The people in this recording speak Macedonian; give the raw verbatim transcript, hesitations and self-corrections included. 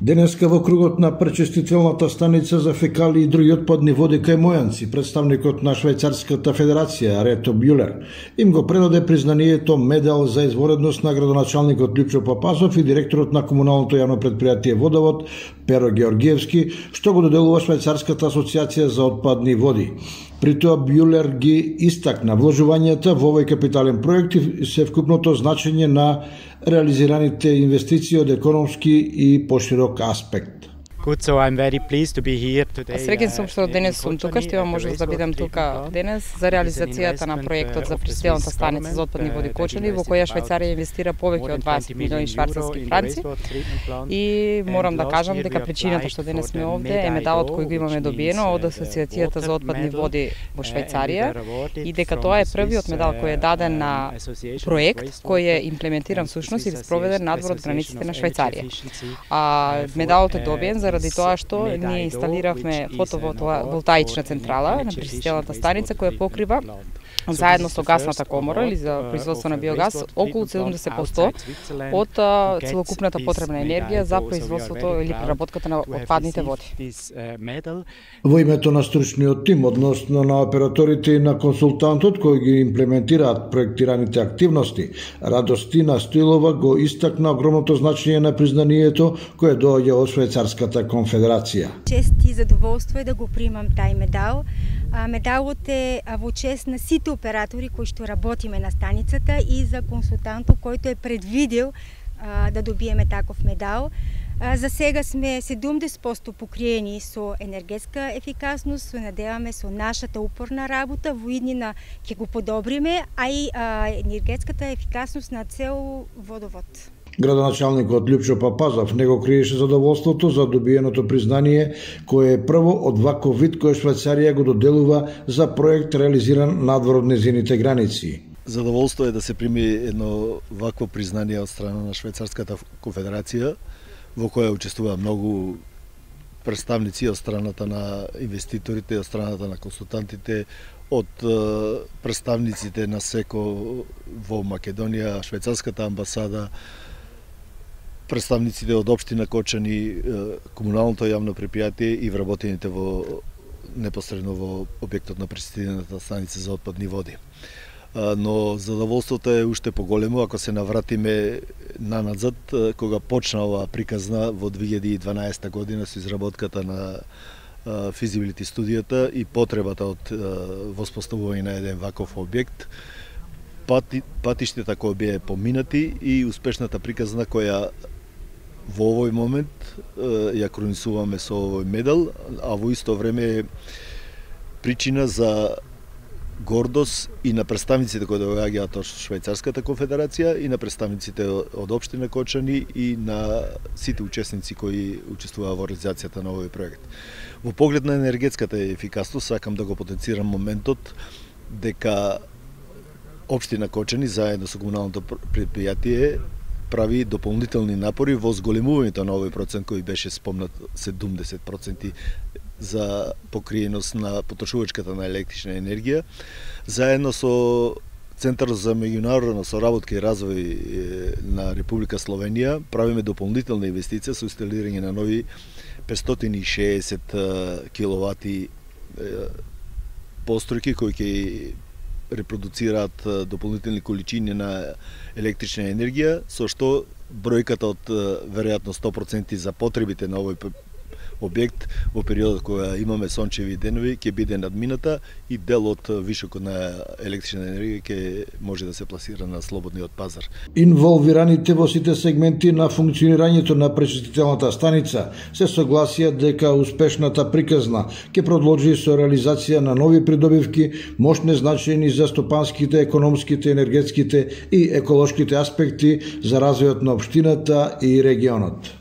Денеска во кругот на пречистителната станица за фекали и други отпадни води кај Мојанци, представникот на Швајцарската федерација Рето Бјулер им го предаде признанието медал за изворедност на градоначалникот Лјупчо Папазов и директорот на комуналното јавно предпријатие Водовод Перо Георгиевски, што го доделува Швајцарската асоциација за отпадни води. При тоа Бјулер ги истакна вложувањата во овој капитален проект и севкупното значење на реализираните инвестиции од економски и поширок аспект. Good, so I'm very pleased to be here today. Среќен сум што денес сум тука, што имам можност да бидам тука денес за реализацијата на проектот за пречистителната станица за отпадни води Кочани, во која Швајцарија инвестира повеќе од дваесет милиони швајцарски франци. И морам да кажам дека причината што денес сме овде е медалот кој го имаме добиено од Асоциацијата за отпадни води во Швајцарија и дека тоа е првиот медал кој е даден на проект кој е имплементиран всушност и спроведен надвор од границите на Швајцарија. А медалот е добиен за заради тоа што ние инсталиравме фотоволтаична централа на пречистителната станица која покрива заедно со гасната комора или за производство на биогаз околу седумдесет проценти од целокупната потребна енергија за производството или преработката на отпадните води. Во името на стручниот тим, односно на операторите и на консултантот кој ги имплементираат проектираните активности, Радостина Стоилова го истакна огромното значење на признанието кое доаѓа од Швајцарската конфедерација. Чест и задоволство е да го примам тај медал. Медалот е во чест на сите оператори кои што работиме на станицата и за консултантот којто е предвидел а, да добиеме таков медал. А, за сега сме седумдесет проценти покриени со енергетска ефикасност, се надеваме со нашата упорна работа, во иднина ќе го подобриме, а и а, енергетската ефикасност на цел водовод. Градоначалникот Лјупчо Папазов не го криеше задоволството за добиеното признание, кое е прво од ваков вид кој Швајцарија го доделува за проект реализиран надвор од незините граници. Задоволство е да се прими едно вакво признание од страна на Швајцарската конфедерација, во која учествува многу представници од страната на инвеститорите, од страната на консултантите, од представниците на СЕКО во Македонија, Швајцарската амбасада, представниците од општина Кочани, комуналното јавно предпријатие и вработените во непосредно во објектот на пречистителната станица за отпадни води. Но задоволството е уште поголемо ако се навратиме наназад, кога почна оваа приказна во две илјади и дванаесета година со изработката на физибилити студијата и потребата од воспоставување на еден ваков објект, пати, патиштата кои беа поминати и успешната приказна која во овој момент ја кронисуваме со овој медал, а во исто време е причина за гордост и на представниците кои доаѓаат од Швајцарската конфедерација и на представниците од општина Кочани и на сите учесници кои учествуваа во реализацијата на овој проект. Во поглед на енергетската ефикасност сакам да го потенцирам моментот дека општина Кочани заедно со комуналното предпријатие прави дополнителни напори во зголемувањето на овој процент кој беше спомнат седумдесет проценти за покриеност на потрошувачката на електрична енергија, заедно со Центарот за меѓународна соработка и развој на Република Словенија правиме дополнителна инвестиција со инсталирање на нови петстотини и шеесет киловати постројки кои ќе репродуцираат дополнителни количини на електрична енергија, со што бројката од веројатно сто проценти за потребите на овој објект во периодот кога имаме сончеви денови ќе биде надмината и дел од вишокот на електрична енергија ќе може да се пласира на слободниот пазар. Инволвираните во сите сегменти на функционирањето на пречистителната станица се согласија дека успешната приказна ќе продолжи со реализација на нови придобивки, мощни значајни за стопанските, економските, енергетските и еколошките аспекти за развојот на општината и регионот.